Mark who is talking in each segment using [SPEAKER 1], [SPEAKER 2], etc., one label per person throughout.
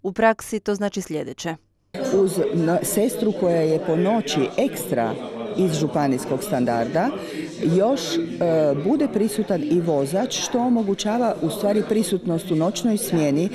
[SPEAKER 1] U praksi to znači sljedeće.
[SPEAKER 2] Uz sestru koja je po noći ekstra iz županijskog standarda, još bude prisutan i vozač, što omogućava u stvari prisutnost u noćnoj smjeni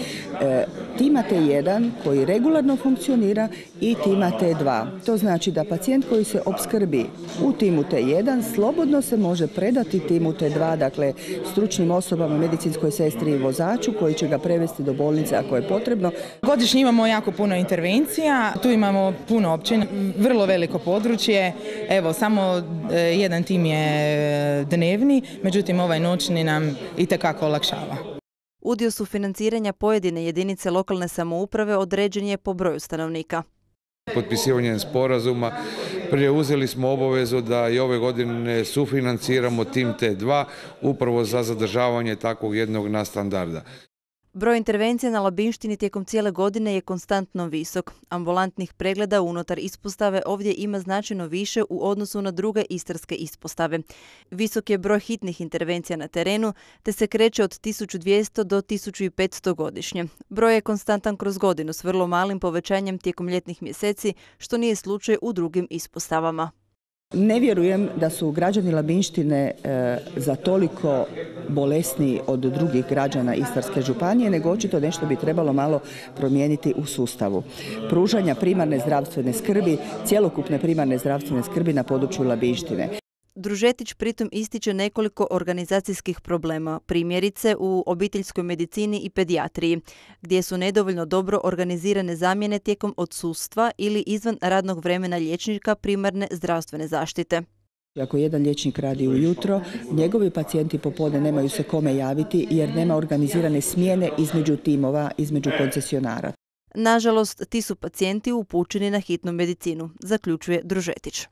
[SPEAKER 2] tima T1 koji regularno funkcionira i tima T2. To znači da pacijent koji se opskrbi u timu T1 slobodno se može predati timu T2, dakle stručnim osobama, medicinskoj sestri i vozaču koji će ga prevesti do bolnice ako je potrebno.
[SPEAKER 3] Godišnje imamo jako puno intervencija, tu imamo puno općina, vrlo veliko područje. Evo, samo jedan tim je dnevni, međutim ovaj noćni nam itekako olakšava.
[SPEAKER 1] Udio sufinanciranja pojedine jedinice lokalne samouprave određen je po broju stanovnika.
[SPEAKER 4] Potpisivanjem sporazuma preuzeli smo obavezu da i ove godine sufinanciramo tim T2 upravo za zadržavanje takvog jednog nadstandarda.
[SPEAKER 1] Broj intervencija na Labinštini tijekom cijele godine je konstantno visok. Ambulantnih pregleda unutar ispostave ovdje ima značajno više u odnosu na druge istarske ispostave. Visok je broj hitnih intervencija na terenu, te se kreće od 1200 do 1500 godišnje. Broj je konstantan kroz godinu s vrlo malim povećanjem tijekom ljetnih mjeseci, što nije slučaj u drugim ispostavama.
[SPEAKER 2] Ne vjerujem da su građani Labinštine za toliko bolesniji od drugih građana Istarske županije, nego očito nešto bi trebalo malo promijeniti u sustavu pružanja primarne zdravstvene skrbi, cjelokupne primarne zdravstvene skrbi na području Labinštine.
[SPEAKER 1] Družetić pritom ističe nekoliko organizacijskih problema, primjerice u obiteljskoj medicini i pedijatriji, gdje su nedovoljno dobro organizirane zamjene tijekom odsustva ili izvan radnog vremena liječnika primarne zdravstvene zaštite.
[SPEAKER 2] Ako jedan liječnik radi ujutro, njegovi pacijenti popodne nemaju se kome javiti jer nema organizirane smjene između timova, između koncesionara.
[SPEAKER 1] Nažalost, ti su pacijenti upućeni na hitnu medicinu, zaključuje Družetić.